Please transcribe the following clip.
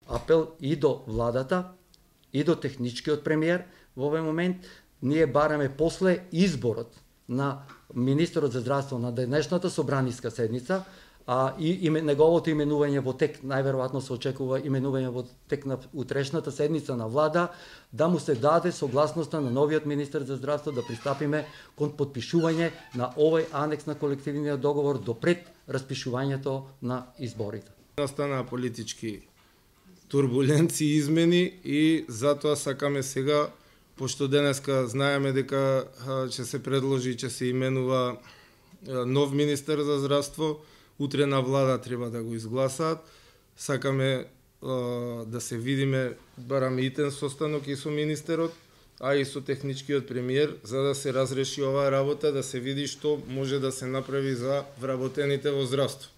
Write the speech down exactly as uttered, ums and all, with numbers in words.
апел и до владата, и до техничкиот премиер во овој момент. Ние бараме после изборот на министерот за здравство на денешната собраниска седница, а и име, неговото именување во тек, најверојатно се очекува именување во тек на утрешната седница на влада, да му се даде согласноста на новиот министер за здравство да пристапиме кон подпишување на овој анекс на колективниот договор до пред распишувањето на изборите. Настана политички турбуленции, измени и затоа сакаме сега, пошто денеска знаеме дека ќе се предложи, ќе се именува нов министер за здравство, утре на влада треба да го изгласаат. Сакаме да се видиме, бараме итен состанок и со министерот, а и со техничкиот премиер, за да се разреши оваа работа, да се види што може да се направи за вработените во здравство.